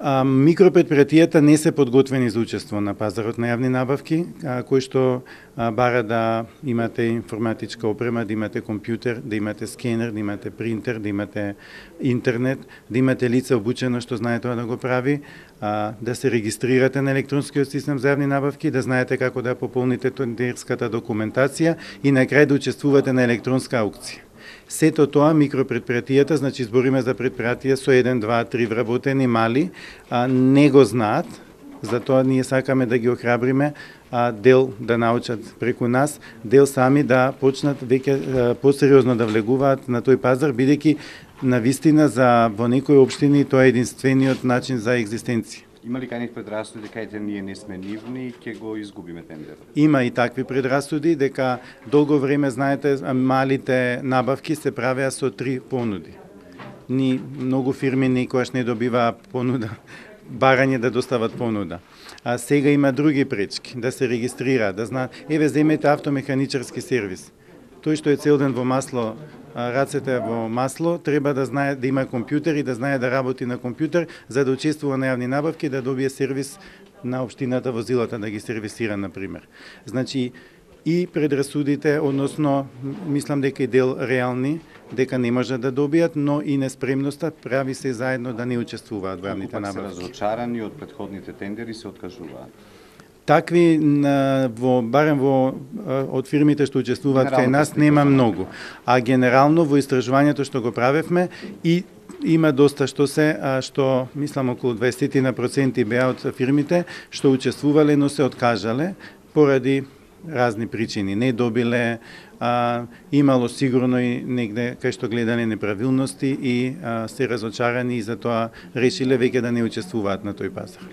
Микропредпријатијата не се подготвени за учество на пазарот на јавни набавки, кои што бара да имате информатичка опрема, да имате компјутер, да имате скенер, да имате принтер, да имате интернет, да имате лице обучено што знае тоа да го прави, да се регистрирате на електронскиот систем за јавни набавки, да знаете како да пополните тендерската документација и на крај да учествувате на електронска аукција. Сето тоа микропредпријатијата, значи збориме за предпријатија со 1, 2, 3 вработени мали, не го знаат, затоа ние сакаме да ги охрабриме, дел да научат преку нас, дел сами да почнат веќе посериозно да влегуваат на тој пазар, бидејќи на вистина во некои општини тоа е единствениот начин за екзистенција. Има ли кај предрасуди дека ние не сме нивни и ќе го изгубиме тендерот? Има и такви предрасуди дека долго време, знаете, малите набавки се правеа со 3 понуди. Многу фирми никогаш не добиваа понуда, барање да достават понуда. А сега има други пречки, да се регистрираат, да знаат, земете автомеханичарски сервис. Тој што е цел ден во масло, рацете во масло, треба да знае да има компјутер и да знае да работи на компјутер за да учествува на јавни набавки, да добие сервис на општината, возилата да ги сервисира, например. Значи, и предрасудите, односно, мислам дека и дел реални, дека не можат да добијат, но и неспремноста прави се заедно да не учествуваат во јавните набавки. Се разочарани од претходните тендери се откажуваат. Такви, барем од фирмите што учествуваат кај нас, нема многу. А генерално во истражувањето што го правевме и има доста што мислам околу 20% беа од фирмите што учествувале, но се откажале поради разни причини. Не добиле, имало сигурно и негде кај што гледале неправилности и се разочарани и затоа решиле веќе да не учествуваат на тој пазар.